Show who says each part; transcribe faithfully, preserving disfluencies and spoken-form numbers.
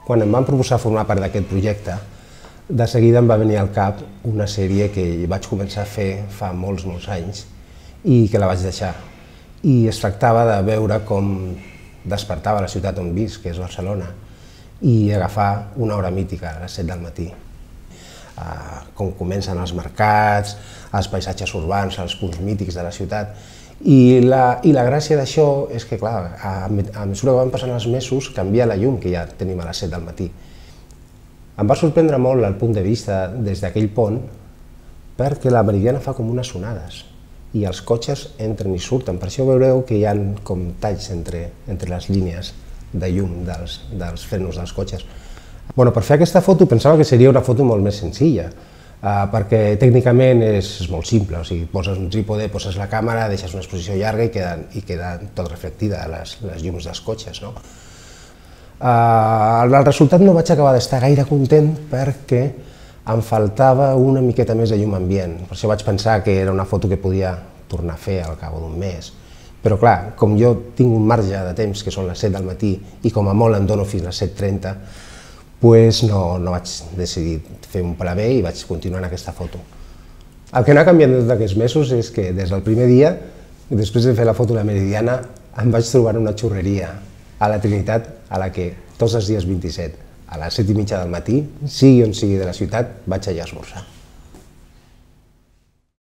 Speaker 1: Quan em van proposar formar part d'aquest projecte, de seguida em va venir al cap una sèrie que vaig començar a fer fa molts, molts anys i que la vaig deixar. I es tractava de veure com despertava la ciutat on visc, que és Barcelona, i agafar una hora mítica a les set del matí. Com comencen els mercats, els paisatges urbans, els punts mítics de la ciutat. I la, i la gràcia d'això és que, clar, a, a mesura que van passant els mesos, canvia la llum que ja tenim a les set del matí. Em va sorprendre molt el punt de vista des d'aquell pont, perquè la Meridiana fa com unes onades i els cotxes entren i surten. Per això veureu que hi ha com talls entre, entre les línies de llum dels, dels frenos dels cotxes. Bueno, per fer aquesta foto pensava que seria una foto molt més senzilla, Uh, perquè tècnicament és, és molt simple, o sigui, poses un trípode, poses la càmera, deixes una exposició llarga i queda, i queda tot reflectida les, les llums dels cotxes. No? Uh, el resultat no vaig acabar d'estar gaire content perquè em faltava una miqueta més de llum ambient. Per això vaig pensar que era una foto que podia tornar a fer al cap d'un mes. Però clar, com jo tinc un marge de temps que són les set del matí i com a molt em dono fins a les set trenta, pues no, no vaig decidir fer un pla B i vaig continuar en aquesta foto. El que no ha canviat en tots aquests mesos és que des del primer dia, després de fer la foto de la Meridiana, em vaig trobar una xurreria a la Trinitat a la que tots els dies vint-i-set, a les set i mitja del matí, sigui on sigui de la ciutat, vaig allà a esmorzar.